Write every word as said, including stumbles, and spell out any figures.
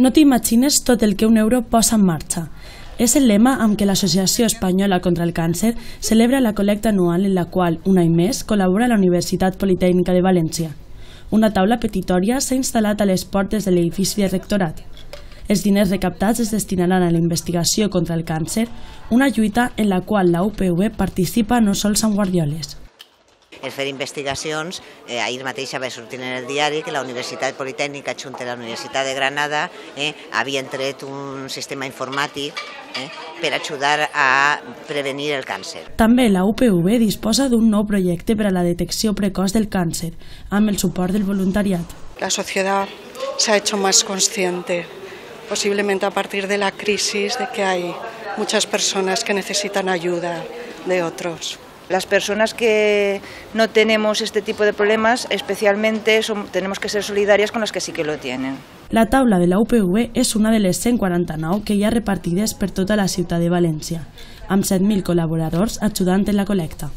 No t'imagines tot el que un euro posa en marxa. És el lema amb què l'Associació Espanyola contra el Càncer celebra la col·lecta anual en la qual, un any més, col·labora la Universitat Politècnica de València. Una taula petitòria s'ha instal·lat a les portes de l'edifici de rectorat. Els diners recaptats es destinaran a la investigació contra el càncer, una lluita en la qual la U P V participa no sols amb guardioles. El fer investigacions, eh, ahir mateix va sortir en el diari que la Universitat Politècnica junt a la Universitat de Granada eh, havien tret un sistema informàtic eh, per ajudar a prevenir el càncer. També la U P V disposa d'un nou projecte per a la detecció precoç del càncer, amb el suport del voluntariat. La sociedad se ha hecho más consciente, posiblemente a partir de la crisis, de que hay muchas personas que necesitan ayuda de otros. Las personas que no tenemos este tipo de problemas, especialmente son, tenemos que ser solidarias con las que sí que lo tienen. La taula de la U P V és una de les cent quaranta-nou que hi ha repartides per tota la ciutat de València, amb set mil col·laboradors ajudant en la col·lecta.